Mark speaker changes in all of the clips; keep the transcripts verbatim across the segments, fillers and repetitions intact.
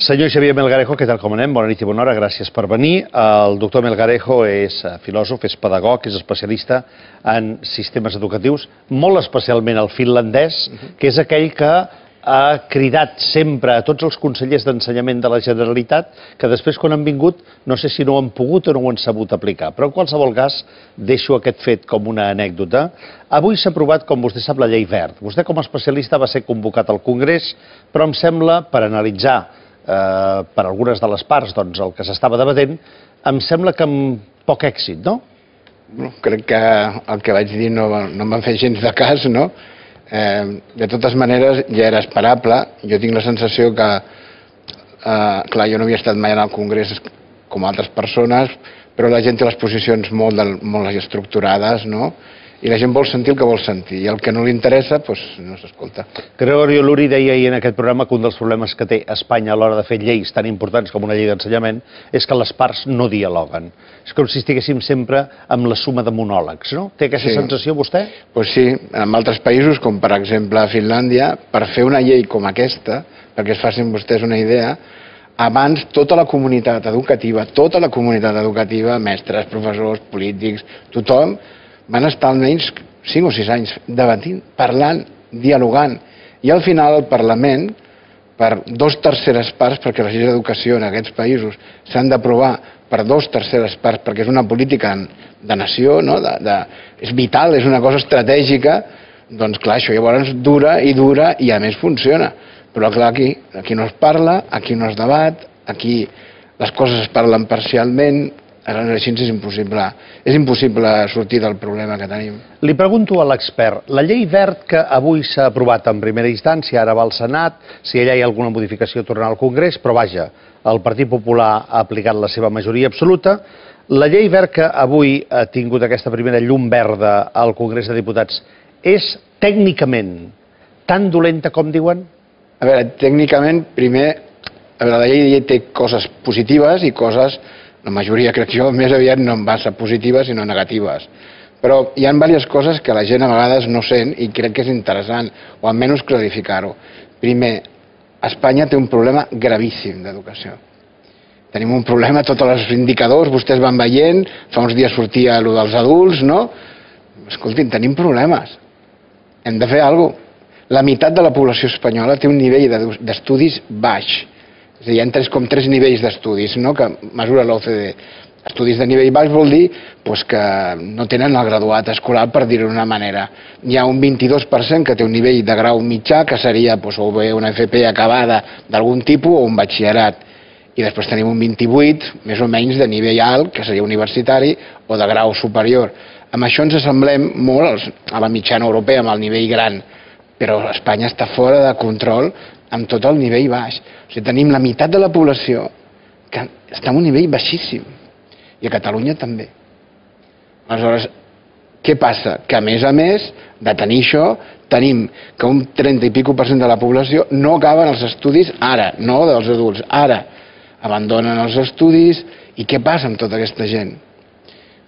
Speaker 1: Senyor Xavier Melgarejo, què tal, com anem? Bona nit i bona hora, gràcies per venir. El doctor Melgarejo és filòsof, és pedagog, és especialista en sistemes educatius, molt especialment el finlandès, que és aquell que ha cridat sempre a tots els consellers d'ensenyament de la Generalitat que després, quan han vingut, no sé si no ho han pogut o no ho han sabut aplicar. Però en qualsevol cas, deixo aquest fet com una anècdota. Avui s'ha aprovat, com vostè sap, la llei verd. Vostè, com a especialista, va ser convocat al Congrés, però em sembla, per analitzar eh, per algunes de les parts doncs, el que s'estava debatent, em sembla que amb poc èxit, no?
Speaker 2: No, crec que el que vaig dir no, no em va fer gens de cas, no? Eh, de totes maneres, ja era esperable. Jo tinc la sensació que, eh, clar, jo no havia estat mai en el Congrés com altres persones, però la gent té les posicions molt, del, molt estructurades, no? I la gent vol sentir el que vol sentir, i el que no li interessa, doncs no s'escolta.
Speaker 1: Gregorio Luri deia ahir en aquest programa que un dels problemes que té Espanya a l'hora de fer lleis tan importants com una llei d'ensenyament és que les parts no dialoguen. És com si estiguéssim sempre amb la suma de monòlegs, no? Té aquesta
Speaker 2: Sí.
Speaker 1: sensació vostè?
Speaker 2: Doncs sí, en altres països, com per exemple a Finlàndia, per fer una llei com aquesta, perquè es facin vostès una idea, abans tota la comunitat educativa, tota la comunitat educativa, mestres, professors, polítics, tothom, van estar almenys cinc o sis anys debatint, parlant, dialogant, i al final el Parlament, per dos terceres parts, perquè les lleis d'educació en aquests països s'han d'aprovar per dos terceres parts, perquè és una política de nació, no? de, de, és vital, és una cosa estratègica, doncs clar, això llavors dura i dura i a més funciona. Però clar, aquí, aquí no es parla, aquí no es debat, aquí les coses es parlen parcialment, aleshores així és impossible, és impossible sortir del problema que tenim.
Speaker 1: Li pregunto a l'expert, la llei verd que avui s'ha aprovat en primera instància, ara va al Senat, si allà hi ha alguna modificació tornarà al Congrés, però vaja, el Partit Popular ha aplicat la seva majoria absoluta. La llei verd que avui ha tingut aquesta primera llum verda al Congrés de Diputats és tècnicament tan dolenta com diuen?
Speaker 2: A veure, tècnicament, primer, a veure, la llei té coses positives i coses, la majoria crec jo, més aviat no va ser positives sinó negatives. Però hi ha diverses coses que la gent a vegades no sent i crec que és interessant, o almenys clarificar-ho. Primer, Espanya té un problema gravíssim d'educació. Tenim un problema, tots els indicadors, vostès van veient, fa uns dies sortia allò dels adults, no? Escoltin, tenim problemes. Hem de fer alguna cosa. La meitat de la població espanyola té un nivell d'estudis baix. És a dir, hi ha tres, com tres nivells d'estudis, no? Que mesura l'O C D E. Estudis de nivell baix vol dir pues, que no tenen el graduat escolar, per dir-ho d'una manera. Hi ha un vint-i-dos per cent que té un nivell de grau mitjà, que seria pues, o bé una F P acabada d'algun tipus o un batxillerat. I després tenim un vint-i-vuit, més o menys, de nivell alt, que seria universitari, o de grau superior. Amb això ens assemblem molt a la mitjana europea, amb el nivell gran, però Espanya està fora de control amb tot el nivell baix. O sigui, tenim la meitat de la població que està en un nivell baixíssim. I a Catalunya també. Aleshores, què passa? Que a més a més de tenir això, tenim que un trenta i pico per cent de la població no acaben els estudis ara, no dels adults, ara. Abandonen els estudis i què passa amb tota aquesta gent?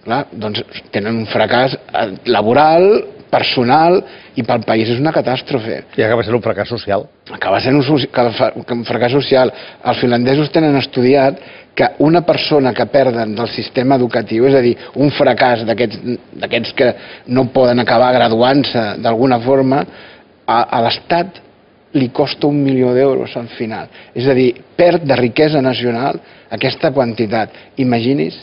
Speaker 2: Clar, doncs tenen un fracàs laboral, personal, i pel país és una catàstrofe.
Speaker 1: I acaba sent un fracàs social.
Speaker 2: Acaba sent un fracàs social. Els finlandesos tenen estudiat que una persona que perden del sistema educatiu, és a dir, un fracàs d'aquests que no poden acabar graduant-se d'alguna forma, a l'Estat li costa un milió d'euros al final. És a dir, perd de riquesa nacional aquesta quantitat. Imagini's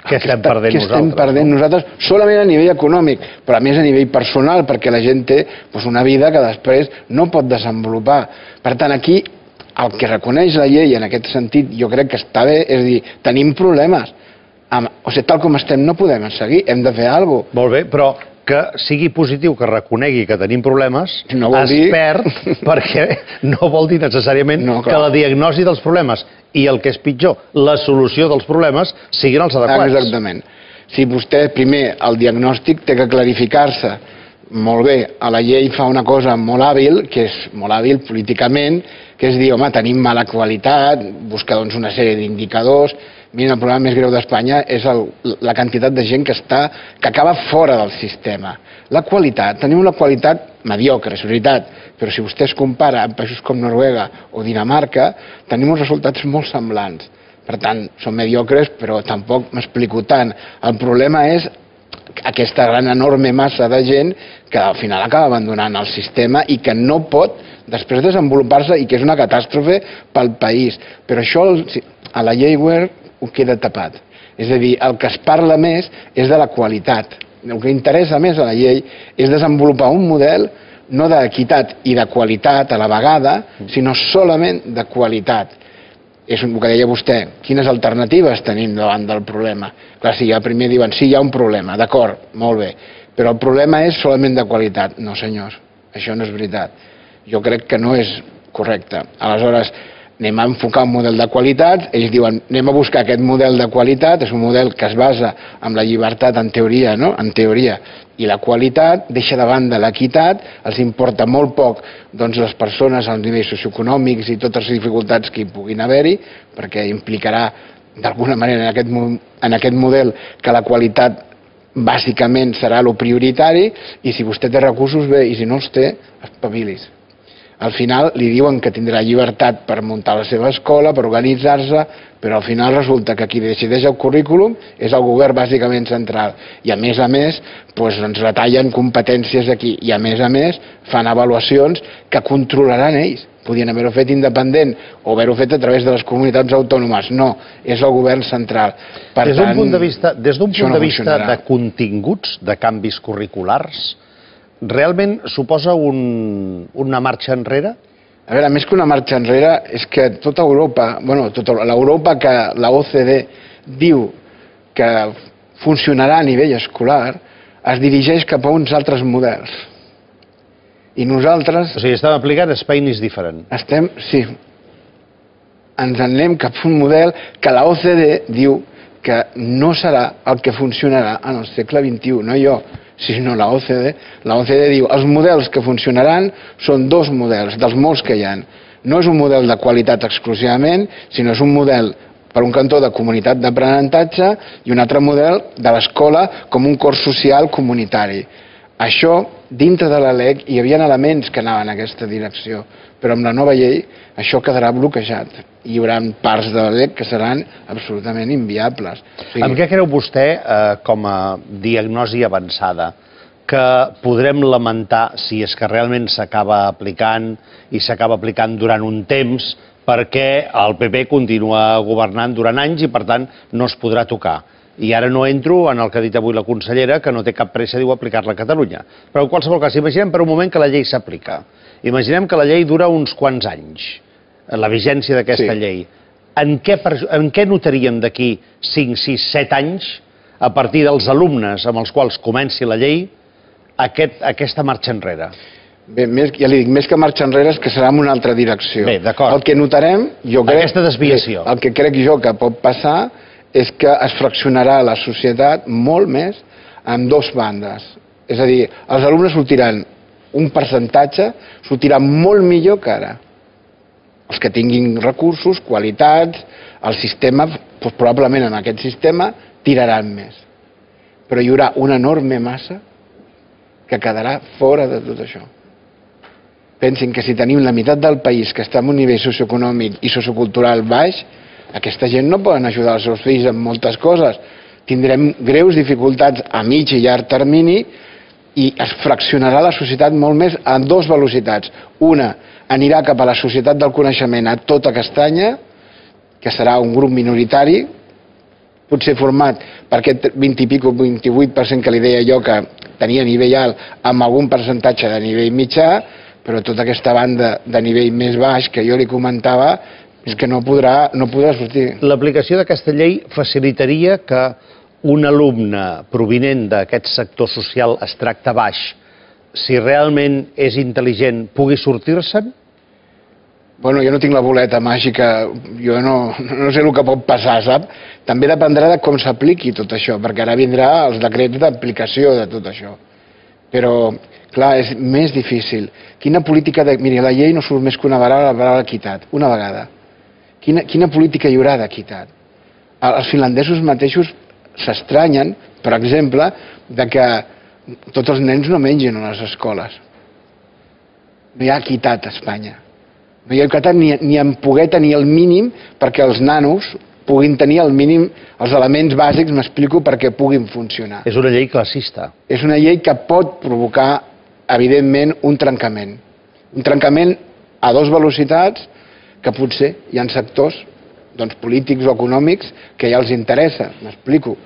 Speaker 1: què estem perdent nosaltres?
Speaker 2: Què estem perdent nosaltres, solament a nivell econòmic, però a més a nivell personal, perquè la gent té una vida que després no pot desenvolupar. Per tant, aquí el que reconeix la llei en aquest sentit jo crec que està bé, és a dir, tenim problemes. O sigui, tal com estem no podem seguir, hem de fer alguna cosa.
Speaker 1: Molt bé, però que sigui positiu, que reconegui que tenim problemes, es perd perquè no vol dir necessàriament que la diagnosi dels problemes i el que és pitjor, la solució dels problemes siguin els adequats.
Speaker 2: Exactament. Si vostè, primer, el diagnòstic té que clarificar-se molt bé, a la llei fa una cosa molt hàbil, que és molt hàbil políticament, que és dir, home, tenim mala qualitat, busca doncs una sèrie d'indicadors, Miren, el problema més greu d'Espanya és el, la quantitat de gent que està, que acaba fora del sistema. La qualitat, tenim una qualitat mediocre, és veritat, però si vostè es compara amb països com Noruega o Dinamarca, tenim uns resultats molt semblants. Per tant, són mediocres, però tampoc m'explico tant. El problema és aquesta gran enorme massa de gent que al final acaba abandonant el sistema i que no pot després desenvolupar-se i que és una catàstrofe pel país. Però això a la llei Wert ho queda tapat. És a dir, el que es parla més és de la qualitat. El que interessa més a la llei és desenvolupar un model no d'equitat i de qualitat a la vegada, sinó solament de qualitat. És el que deia vostè, quines alternatives tenim davant del problema. Clar, si ja primer diuen, sí, hi ha un problema, d'acord, molt bé, però el problema és solament de qualitat. No, senyors, això no és veritat. Jo crec que no és correcte. Aleshores, anem a enfocar un model de qualitat, ells diuen, anem a buscar aquest model de qualitat, és un model que es basa en la llibertat en teoria, no? En teoria, i la qualitat, deixa de banda l'equitat, els importa molt poc doncs, les persones als nivells socioeconòmics i totes les dificultats que hi puguin haver-hi, perquè implicarà d'alguna manera en aquest, en aquest model que la qualitat bàsicament serà el prioritari, i si vostè té recursos, bé, i si no els té, espavilis. Al final li diuen que tindrà llibertat per muntar la seva escola, per organitzar-se, però al final resulta que qui decideix el currículum és el govern bàsicament central. I a més a més, doncs ens retallen competències aquí i a més a més fan avaluacions que controlaran ells. Podien haver-ho fet independent o haver-ho fet a través de les comunitats autònomes. No, és el govern central.
Speaker 1: Per des d'un punt de vista, des d'un punt de vista de continguts, de canvis curriculars, realment suposa un, una marxa enrere?
Speaker 2: A veure, més que una marxa enrere, és que tota Europa, bueno, tota l'Europa que la O C D diu que funcionarà a nivell escolar, es dirigeix cap a uns altres models. I nosaltres...
Speaker 1: O sigui, estem aplicant Spain is different.
Speaker 2: Estem, sí. Ens anem cap a un model que la O C D diu que no serà el que funcionarà en el segle vint-i-u, no jo, sinó la O C D. La O C D diu els models que funcionaran són dos models, dels molts que hi ha. No és un model de qualitat exclusivament, sinó és un model, per un cantó, de comunitat d'aprenentatge i un altre model de l'escola com un cos social comunitari. Això, dintre de la L E C, hi havia elements que anaven en aquesta direcció, però amb la nova llei això quedarà bloquejat. Hi haurà parts de la L E C que seran absolutament inviables.
Speaker 1: O sigui... Amb què creu vostè, eh, com a diagnosi avançada, que podrem lamentar si és que realment s'acaba aplicant i s'acaba aplicant durant un temps perquè el P P continua governant durant anys i, per tant, no es podrà tocar? I ara no entro en el que ha dit avui la consellera, que no té cap pressa, diu, aplicar-la a Catalunya. Però en qualsevol cas, imaginem per un moment que la llei s'aplica. Imaginem que la llei dura uns quants anys, la vigència d'aquesta
Speaker 2: sí.
Speaker 1: llei. En què, en què notaríem d'aquí cinc, sis, set anys, a partir dels alumnes amb els quals comenci la llei, aquest, aquesta marxa enrere?
Speaker 2: Bé, més, ja li dic, més que marxa enrere és que serà en una altra direcció.
Speaker 1: Bé, d'acord.
Speaker 2: El que notarem, jo crec...
Speaker 1: Aquesta desviació.
Speaker 2: El que crec jo que pot passar és que es fraccionarà la societat molt més en dos bandes. És a dir, els alumnes sortiran un percentatge, sortiran molt millor que ara. Els que tinguin recursos, qualitats, el sistema, doncs probablement en aquest sistema, tiraran més. Però hi haurà una enorme massa que quedarà fora de tot això. Pensin que si tenim la meitat del país que està en un nivell socioeconòmic i sociocultural baix, aquesta gent no poden ajudar els seus fills en moltes coses. Tindrem greus dificultats a mig i llarg termini i es fraccionarà la societat molt més en dues velocitats. Una anirà cap a la societat del coneixement a tota castanya, que serà un grup minoritari, potser format per aquest vint i pico, vint-i-vuit per cent que li deia jo que tenia nivell alt amb algun percentatge de nivell mitjà, però tota aquesta banda de nivell més baix que jo li comentava és que no podrà, no podrà sortir.
Speaker 1: L'aplicació d'aquesta llei facilitaria que un alumne provinent d'aquest sector social extracte baix, si realment és intel·ligent, pugui sortir-se'n?
Speaker 2: Bueno, jo no tinc la boleta màgica, jo no, no sé el que pot passar, sap? També dependrà de com s'apliqui tot això, perquè ara vindrà els decrets d'aplicació de tot això. Però, clar, és més difícil. Quina política de... Miri, la llei no surt més que una vegada, la paraula equitat, una vegada. Quina, quina política hi haurà d'equitat? els finlandesos mateixos s'estranyen, per exemple, de que tots els nens no mengin a les escoles. No hi ha equitat a Espanya. No hi ha equitat ni, ni en poder tenir el mínim perquè els nanos puguin tenir el mínim, els elements bàsics, m'explico, perquè puguin funcionar.
Speaker 1: És una llei classista.
Speaker 2: És una llei que pot provocar, evidentment, un trencament. Un trencament a dues velocitats que potser hi ha sectors doncs, polítics o econòmics que ja els interessa, m'explico.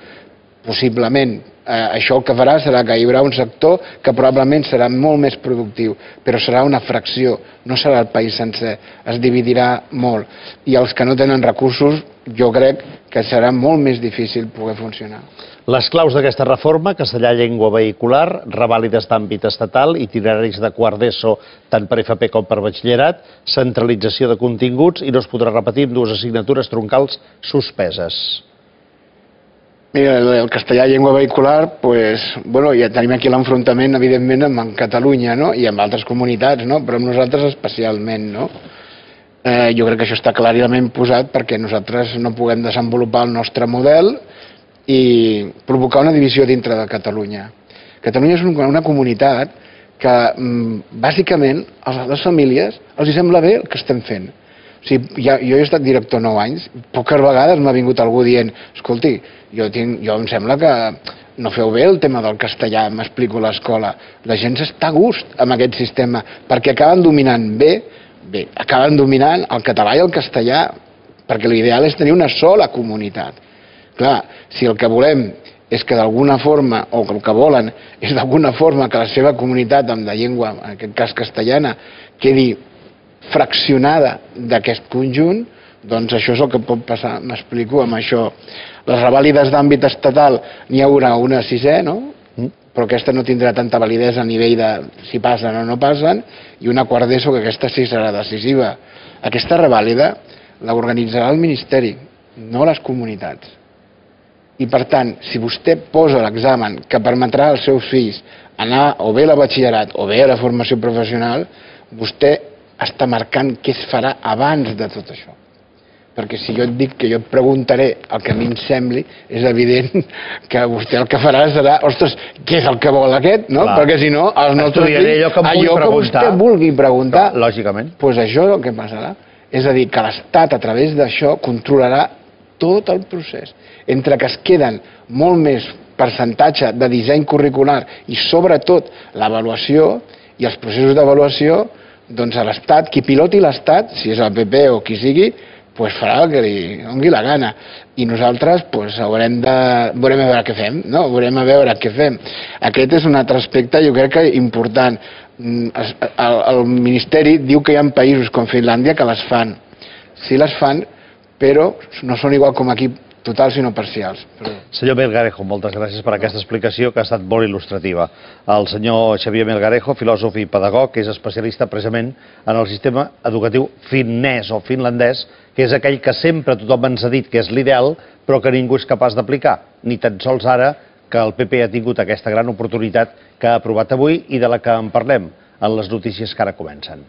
Speaker 2: Possiblement, eh, això el que farà serà que hi haurà un sector que probablement serà molt més productiu, però serà una fracció, no serà el país sencer, es dividirà molt. I els que no tenen recursos, jo crec que serà molt més difícil poder funcionar.
Speaker 1: Les claus d'aquesta reforma, castellà llengua vehicular, revàlides d'àmbit estatal, itineraris de quart d'ESO tant per F P com per batxillerat, centralització de continguts i no es podrà repetir amb dues assignatures troncals suspeses.
Speaker 2: Mira, el castellà llengua vehicular, pues, bueno, ja tenim aquí l'enfrontament, evidentment, amb Catalunya, no? I amb altres comunitats, no? Però amb nosaltres especialment, no? Eh, jo crec que això està clarament posat perquè nosaltres no puguem desenvolupar el nostre model i provocar una divisió dintre de Catalunya. Catalunya és una comunitat que, bàsicament, a les famílies els sembla bé el que estem fent. O sigui, ja, jo he estat director nou anys, poques vegades m'ha vingut algú dient escolti, jo, tinc, jo em sembla que no feu bé el tema del castellà, m'explico a l'escola. La gent està a gust amb aquest sistema, perquè acaben dominant bé, bé, acaben dominant el català i el castellà, perquè l'ideal és tenir una sola comunitat. Clar, si el que volem és que d'alguna forma, o el que volen, és d'alguna forma que la seva comunitat amb la llengua, en aquest cas castellana, quedi fraccionada d'aquest conjunt, doncs això és el que pot passar, m'explico, amb això. Les revàlides d'àmbit estatal n'hi haurà una a sisè, no? Però aquesta no tindrà tanta validesa a nivell de si passen o no passen, i una quart d'ESO que aquesta sí serà decisiva. Aquesta revàlida l'organitzarà el Ministeri, no les comunitats. I per tant, si vostè posa l'examen que permetrà als seus fills anar o bé a la batxillerat o bé a la formació professional, vostè està marcant què es farà abans de tot això. Perquè si jo et dic que jo et preguntaré el que a mi em sembli, és evident que vostè el que farà serà, ostres, què és el que vol aquest? No? Perquè si no, els nostres fills, allò que, allò que vostè vulgui preguntar,
Speaker 1: no, lògicament,
Speaker 2: doncs això és el que passarà. És a dir, que l'Estat a través d'això controlarà tot el procés. Entre que es queden molt més percentatge de disseny curricular i sobretot l'avaluació i els processos d'avaluació, doncs a l'Estat, qui piloti l'Estat, si és el P P o qui sigui, doncs farà el que li doni la gana. I nosaltres doncs, haurem de... veurem a veure què fem, no? Veurem a veure què fem. Aquest és un altre aspecte, jo crec que important. El, el Ministeri diu que hi ha països com Finlàndia que les fan. Sí les fan, però no són igual com aquí, totals sinó parcials. Però...
Speaker 1: Senyor Melgarejo, moltes gràcies per aquesta explicació que ha estat molt il·lustrativa. El senyor Xavier Melgarejo, filòsof i pedagog, que és especialista precisament en el sistema educatiu finès o finlandès, que és aquell que sempre tothom ens ha dit que és l'ideal, però que ningú és capaç d'aplicar. Ni tan sols ara que el P P ha tingut aquesta gran oportunitat que ha aprovat avui i de la que en parlem en les notícies que ara comencen.